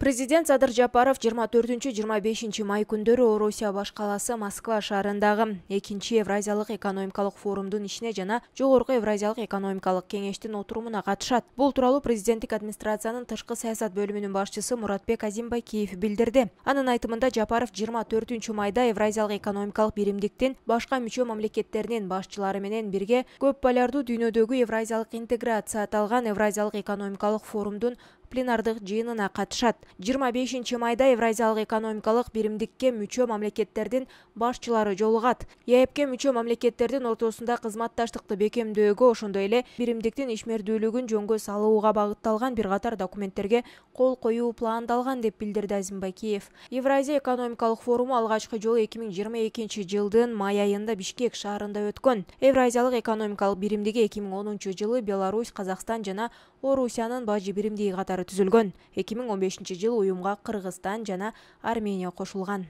Президент Садыр Жапаров 24-25 май күндөрү Орусия баш каласы Москва шаарындагы 2 Евразиялык экономикалык форумдун ишине жана Жогорку Евразиялык экономикалык кеңештин отурумуна катышат. Бул тууралуу президенттик администрациянын тышкы саясат бөлүмүнүн башчысы Муратбек Азимбакиев билдирди. Анын айтымында Жапаров 24 майда Евразиялык экономикалык биримдиктин башка мүчө мамлекеттеринин башчылары менен бирге көп полярдуу дүйнөдөгү евразиялык интеграция аталган Евразиялык экономикалык форумдун пленардык жыйынына катышат. 25 майда Евразиялык экономикалык биримдикке мүчө мамлекеттердин башчылары жолугат. ЕЭПке мүчө мамлекеттердин ортосунда кызматташтыкты бекемдөөгө, ошондой эле биримдиктин ишмердүүлүгүн жөнгө салууга багытталган бир катар документтерге кол коюу пландалган деп билдирди Азимбакиев. Евразия экономикалык форуму алгачкы жолу 2022 жылдын май айында Бишкек шаарында өткөн. Евразиялык экономикалык биримдиги 2010 жылы Беларусь, Казакстан жана Орусиянын бажы биримдиги катары түзүлгөн. 2015 жылы уюмга Кыргызстан жана Армения кошулган.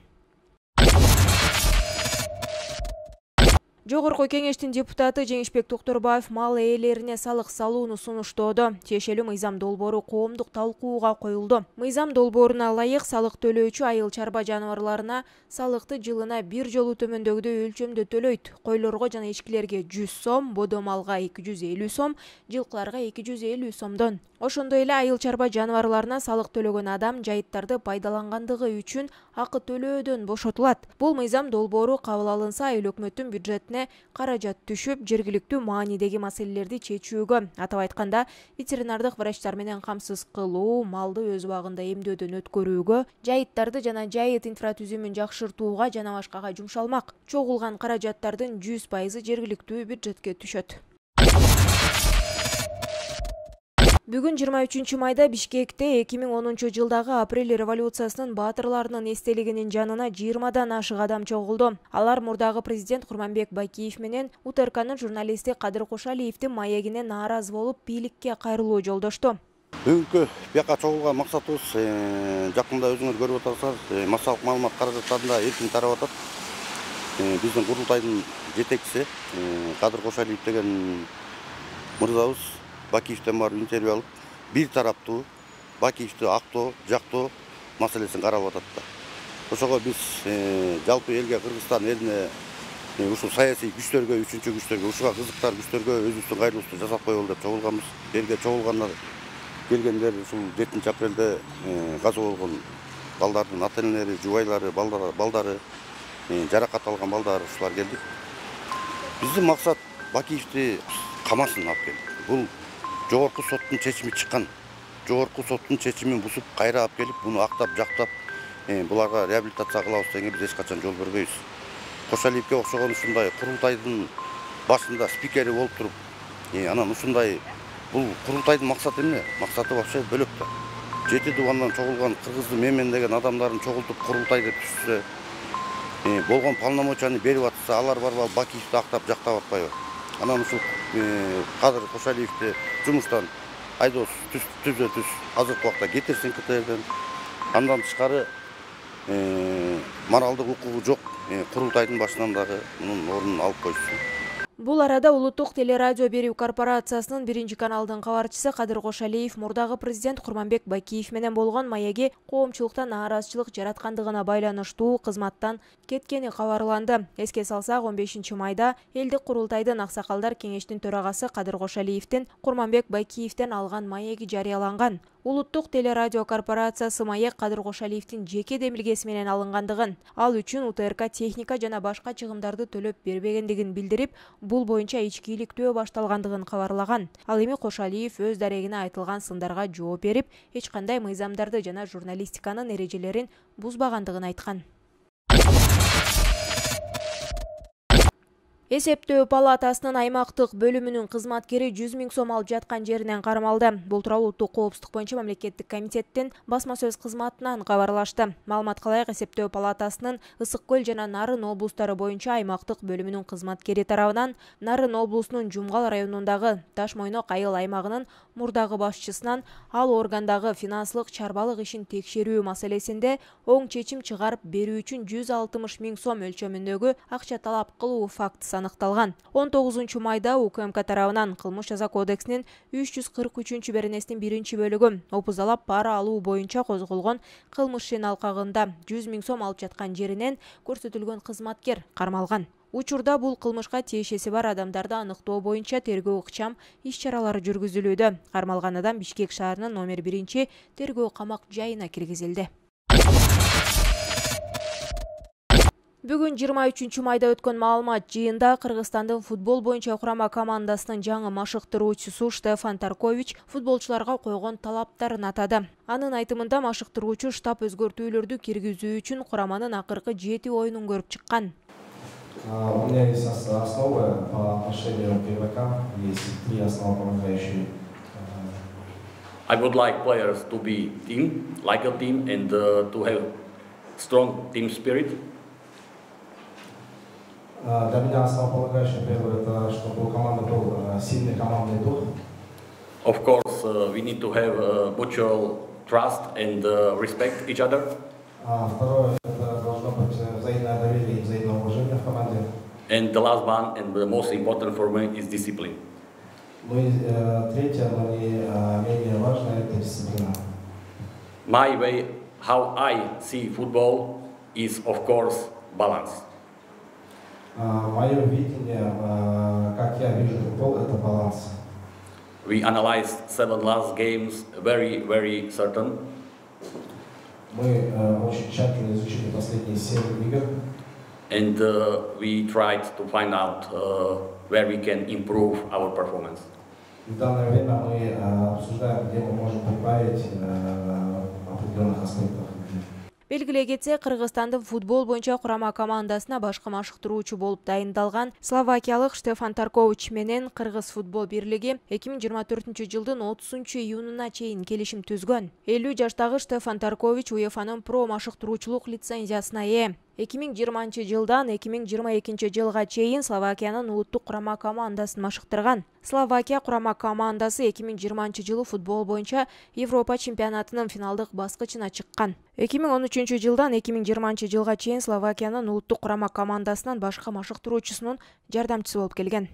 Жогорку кеңештин депутаты Жеңишбек Токторбаев мал ээлерине салык салууну сунуштоодо. Тиешелүү мыйзам долбоору коомдук талкууга коюлду. Мыйзам долбооруна ылайык салык төлөөчү айыл чарба жаныбарларына салыкты жылына бир жолу төмөндөгүдөй өлчөмдө төлөйт. Койлорго жана эчкилерге 100 сом, бодо малга 250 сом, жылкыларга 250 сомдон. Ошондой эле айыл чарба жаныбарларына салык төлөгөн адам жайыттарды пайдалангандыгы үчүн акы төлөөдөн бошотулат. Бул мыйзам долбоору кабыл алынса, айыл өкмөттүн бюджетине каражат түшүп, жергиликтүү маанидеги маселелерди чечүүгө, атап айтканда, ветеринардык врачтар менен камсыз кылуу, малды өз убагында эмдөөдөн өткөрүүгө, жайыттарды жана жайыт инфратүзүмүн жакшыртууга жана башкага жумшалмак. Чогулган каражаттардын 100% жергиликтүү бюджетке түшөт. Бүгүн 23 майда Бишкекте 2010 жылдагы апрель революциясынын баатырларынын эстелигинин жанына 20дан ашык адам чогулду. Алар мурдагы президент Курманбек Байкиев менен УТРКнын журналисти Кадыр Кошалиевдин маегине нааразы болуп, бийликке кайрылуу жолдошту. Бүгүнкү бияка чогулган максатыбыз жакында өзүңөр көрүп атасыздар, массалык маалымат каражаттарында эркин тарап атат. Биздин курултайдын жетекчиси Кадыр Кошалиев деген мырзабыз Бакиевден барып интервью алып, бир тараптуу Бакиевди актоо, жактоо маселесин карап атат да. Ошого биз жалпы элге, Кыргызстан элине, ушул саясий күчтөргө, үчүнчү күчтөргө, ушуга кызыктар күчтөргө өзүбүздүн кайрылуубузду жасап коелу деп чогулганбыз. Элге чогулгандар, келгендер ушул 7 апрелде каза болгон балдардын ата-энелери, жубайлары, балдары, жаракат алган балдар ушулар келдик. Биздин максат Бакиевди камасын алып келип. Бул Жогорку соттун чечими чыккан. Жогорку соттун чечимин бузуп, кайра алып келип, буну актап, жактап, буларга реабилитация кылабыз дегенге биз эч качан жол бербейбиз. Кошалиевке окшогон ушундай курултайдын башында спикери болуп туруп, анан ушундай бул курултайдын максаты эмне? Максаты вообще бөлөк да. 7 дубандан чогулган кыргызды менмен деген адамдарын чогултуп курултай деп түзсө, болгон полномочияны берип атса, алар барбай Бакиевди актап, жактап атпайбы? Анан ушул Кадыр Кошалиевди жумуштан айдоос түз азыркы убакта кетирсин КТРден. Андан тышкары моралдык укугу жок курултайдын башынан дагы мунун ордун алып койсун. Бул арада Улуттук телерадио берүү корпорациясынын 1 каналдын кабарчысы Кадыр Кошалиев мурдагы президент Курманбек Байкиев менен болгон маеги коомчулукта нааразычылык жараткандыгына байланыштуу кызматтан кеткени кабарланды. Эске салсак, 15 майда элдик курултайдын аксакалдар кеңештин төрагасы Кадыр Кошалиевдин Курманбек Байкиевден алган маеги жарыяланган. Улуттук телерадио корпорациясы маек Кадыр Кошалиевдин жеке демилгеси менен алынгандыгын, ал үчүн УТРК техника жана башка чыгымдарды төлөп бербегендигин билдирип, бул боюнча ички иликтөө башталгандыгын кабарлаган. Ал эми Кошалиев өз дарегине айтылган сындарга жооп берип, эч кандай мыйзамдарды жана журналистиканын эрежелерин бузбагандыгын айткан. Эсептөө палатасынын аймактык бөлүмүнүн кызматкери 100 000 сом алып жаткан жеринен кармалды. Бул тууралуу Улуттук коопсуздук боюнча мамлекеттик комитеттин басма сөз кызматынан кабарлашты. Маалыматка ылайык, Эсептөө палатасынын Ысык Көл жана Нарын облустары боюнча аймактык бөлүмүнүн кызматкери тарабынан Нарын облусунун Жумгал районундагы Таш Мойнок айыл аймагынын мурдагы башчысынан ал органдагы финанслык чарбалык ишин текшерүү маселесинде оң чечим чыгарып берүү үчүн 160 000 сом өлчөмүндөгү акча талап кылуу фактысы аныкталган. 19 майда УКМК тарабынан кылмыш жаза кодексинин 343-беренесинин 1-бөлүгү опуздалап пара алуу боюнча козголгон кылмыш ишинин алкагында 100 000 сом алып жаткан жеринен көрсөтүлгөн кызматкер кармалган. Учурда бул кылмышка тиешеси бар адамдарды аныктоо боюнча тергөө ыкчам иш-чаралары жүргүзүлүүдө. Кармалган адам Бишкек шаарынын номер 1 тергөө камак жайына киргизилди. Бүгүн 23-майда өткөн маалымат жыйында Кыргызстандын футбол боюнча курама командасынын жаңы машыктыруучусу Штефан Таркович футболчуларга койгон талаптарын атады. Анын айтымында машыктыруучу штаб өзгөртүүлөрдү киргизүү үчүн кураманын акыркы 7 оюнун көрүп чыккан. У меня есть основа по отношению к игрокам, есть 3 основополагающие. I would like players to be team, like a team, and to have strong team spirit. Для меня основополагающее первое это, чтобы у команды был сильный командный дух. Of course, we need to have mutual trust and respect each other. Второе это должно быть взаимное доверие и взаимное уважение в команде. And the last one, and the most important for me, is discipline. Ну и третье, но не менее важное, это дисциплина. My way, how I see football, is of course balance. Мое видение, как я вижу футбол, это баланс. We analyzed 7 last games, very certain. Мы очень тщательно изучили последние 7 игр. And we tried to find out where we can improve our performance. В данное время мы обсуждаем, где мы можем прибавить определенных аспектах. Белгилей кетсе, Кыргызстандын футбол боюнча курама командасына башкы машыктыруучу болуп дайындалган словакиялык Штефан Таркович менен Кыргыз футбол бирлиги 2024-жылдын 30-июнуна чейин келишим түзгөн. 50 жаштагы Штефан Таркович УЕФАнын про машыктыруучулук лицензиясына ээ. 2020-жылдан 2022-жылга чейин Словакиянын улуттук курама командасын машыктырган. Словакия курама командасы 2020-жылы футбол боюнча Европа чемпионатынын финалдык баскычына чыккан. 2013-жылдан 2020-жылга чейин Словакиянын улуттук курама командасынын башкы машыктыруучусунун жардамчысы болуп келген.